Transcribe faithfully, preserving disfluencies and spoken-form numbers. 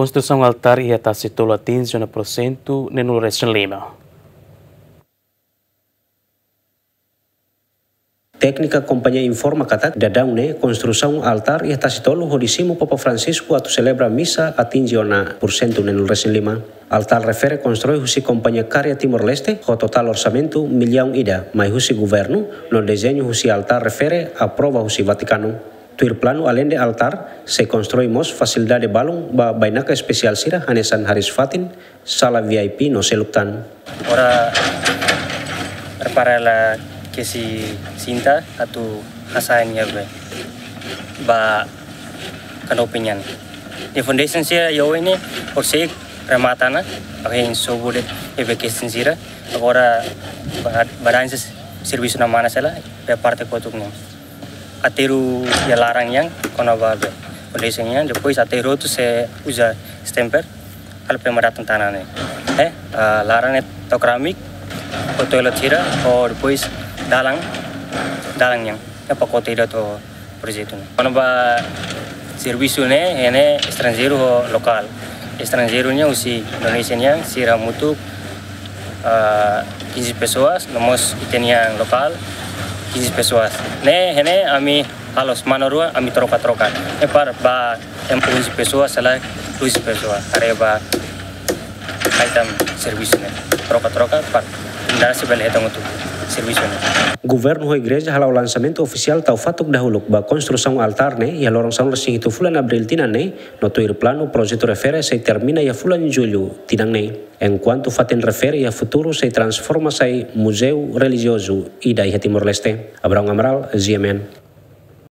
Konstrusaun altár iha Tasitolu atinje ona porsentu neenulu resin lima. Téknika kompañia informa katak daudaun ne'e konstrusaun altár iha Tasitolu hodi simu Papa Francisco atu selebra misa atinje ona porsentu neenulu resin lima. Altár refere konstrui husi kompañia Karya Timor-Leste ho totál orsamentu millaun ida mai husi governu, no dezeñu husi altár refere aprova husi Vatikanu. Tuir planu, aleinde altár, sei konstrui mós fasilidade balun ba bainaka espesiál sira hanesan hariis-fatin, sala V I P no seluk tan. Ora prepara la kesi sinta atu hasa'e nia be ba kanopi nian. Nia foundation sira iha oin ne'e horiseik remata ona, ahin sobu de'it be kesi sira. Agora ba-, badansa servisu ne'e manas hela, be parte kotuk ne'e. Aterru iha laran nian, kona-ba be foundation nian, depois aterru hotu sei uza stamper, halo pema datan tanah ne'e. Eh, ah, laran ne'e tau keramik, ho toilet sira, ho depois dalan, dalan nian. Ne'e pakote ida to'o projetu ne'e. Kona-ba servisu ne'e, iha ne'e estranjeiru ho lokál. Estranjeiru nian husi Indonézia nian, sira hamutuk, ah, quinze pessoas, no mós ita-nian lokál, quinze pessoas. Ne'e, iha ne'e ami halo semana rua, ami troka-troka. Ne'e para ba em onze pessoas, sala doze pessoas. Haree ba ai tan servisu ne'e. Troka-troka, para komunidade sira bele hetan hotu servisu ne'e. Governu ho igreja hala'o lansamentu ofisiál tau fatuk dahuluk ba konstrusaun altár ne'e iha loron sanulu-resin-hitu fulan Abríl tinan ne'e, no tuir planu projetu refere sei termina iha fulan Jullu tinan ne'e. Enkuantu fatin refere iha futuru sei transforma sai muzeu relijiozu ida iha Timor-Leste. Abrão Amaral, G M N.